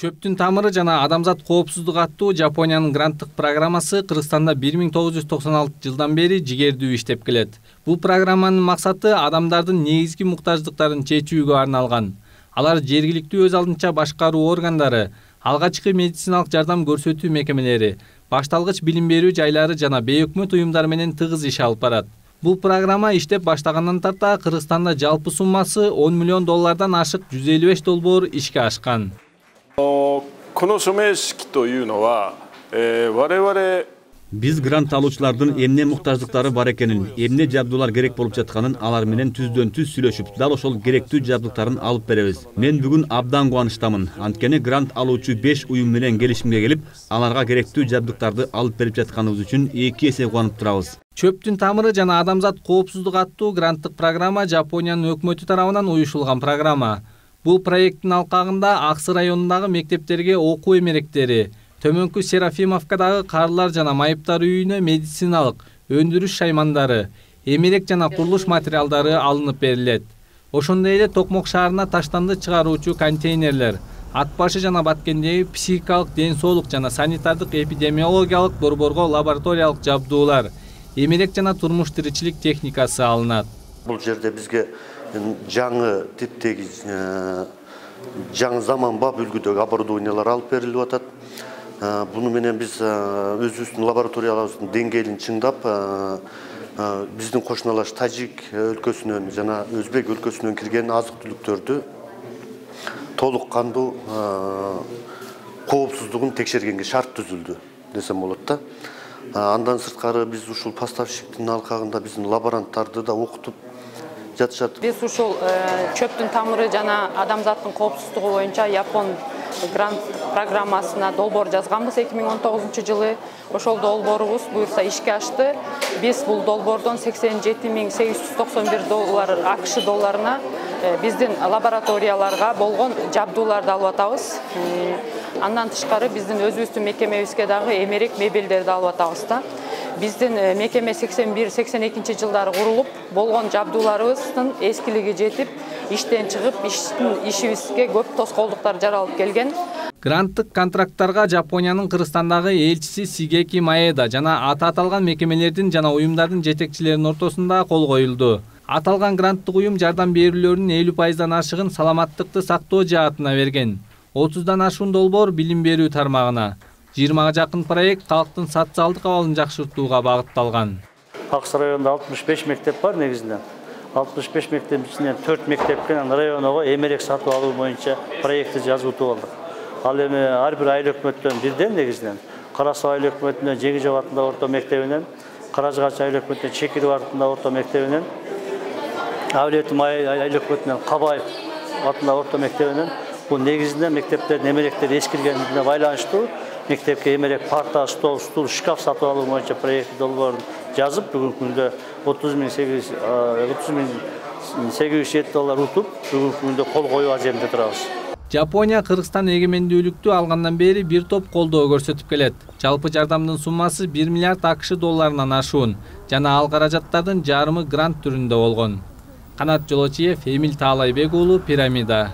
Чөптүн тамыры жана адамзат коопсуздугу аттуу Жапониянын гранттык программасы Кыргызстанда 1996 жылдан бери жигердүү иштеп келет. Бул программанын максаты адамдардын негизги муктаждыктарын чечүүгө арналган. Алар жергиликтүү өз алдынча башкаруу органдары, алгачкы медициналык жардам көрсөтүү мекемелери, башталгыч билим берүү жайлары жана бейөкмөт уюмдар менен тыгыз иш алып барат. Бул программа иштеп баштагандан тарта Кыргызстанда жалпы суммасы $10 миллион ашык 155 долбоор ишке ашкан. この署名式というのは、我々 Биз грант алуучулардын эмне муктаждыктары бар экенин, эмне жабдуулар керек болуп жатканын алар менен түздөн-түз сүйлөшүп, дал ошол керектүү жабдыктарын алып беребиз. Мен бүгүн абдан кубанычтамын. Анткени грант алуучу 5 уюм менен келишимге келип, аларга керектүү жабдыктарды алып берип жатканыбыз үчүн 2 эсе кубанып турабыз. Чөптүн тамыры жана адамзат коопсуздугу аттуу гранттык программа Жапониянын өкмөтү тарабынан уюшулган программа. Бул проекттин алкагында Аксы районундагы мектептерге окуу эмеректери, Төмөнкү Серафимовкадагы карылар жана майыптар үйүнө медициналык, өндүрүш шаймандары, эмерек жана курулуш материалдары алынып берилет. Ошондой эле Токмок шаарына таштанды чыгаруучу контейнерлер, ат башы жана Баткендеги психикалык ден соолук жана санитардык эпидемиологиялык борборго лабораториялык жабдуулар, эмерек жана турмуш тиричилик техникасы алынат. Бул жерде бизге жаңы типтеги жаңы заманбап үлгүдөгү оборудованиялар алып берилип атат. Буну менен биз өзүбүздүн лабораторияларыбыздын деңгээлин чыңдап, биздин кошуналаш Тажик өлкөсүнөн жана Өзбек өлкөсүнөн кирген азык-түлүктөрдү толук кандуу коопсуздугун текшергенге шарт түзүлдү десем болот да. Андан сырткары биз ушул поставщиктин алкагында биздин лаборанттарды да окутуп жатышат. Биз ушул чөптүн тамыры жана адамзаттын коопсуздугу боюнча Япон грант программасына долбоор жазганбыз 2019 жылы. Ошол долбоорубуз буюрса ишке ашты. Биз бул долбоордон $87,891 АКШ долларына биздин лабораторияларга болгон жабдууларды алып атабыз. Андан тышкары биздин өзүбүздүн мекемебизге дагы эмерек мебелдерди алып атабыз да. Биздин мекеме 81-82 жылдары курулуп, болгон жабдууларыбыздын эскилиги жетип, иштен чыгып, ишибизге көп тоскоолдуктар жаралып келген. Гранттык контракттарга Жапониянын Кыргызстандагы элчиси Сигеки Маэда жана аталган мекемелердин жана уюмдардын жетекчилеринин ортосунда кол коюлду. Аталган гранттык уюм жардам берүүлөрүнүн 50% ашыгын саламаттыкты сактоо жаатына берген. 30дан ашуун долбоор билим берүү тармагына. 20-га жакын проект калктын социалдык абалын жакшыртууга багытталган. Аксы районунда 65 мектеп бар негизинен. 65 мектептин ичинен 4 мектепке районго эмерек сатып алуу боюнча проектти жазып алдык. Ал эми ар бир айыл өкмөттөн бирден негизинен Кара Суу айыл өкмөтүнөн Жегижов атындагы орто мектебинен, Каражыгач айыл өкмөтүнөн Чекиров атындагы орто мектебинен, Авлиетим айыл өкмөтүнөн Кабаев атындагы орто мектебинен бул негизинен мектептердин эмеректери эскиргенине байланыштуу мектепке эмерек парта, стол, шкаф сатып алуу боюнча проект долбоорун жазып, бүгүнкү күндө $30,807 утуп, бүгүнкү күндө кол коюу аземде турабыз. Жапония Кыргызстан эгемендүүлүктү алгандан бери бир топ колдоо көрсөтүп келет. Жалпы жардамдын суммасы 1 миллиард АКШ долларынан ашуун жана ал каражаттардын жарымы грант түрүндө болгон. Канат Жолочиев, Эмил Таалайбек уулу, Пирамида.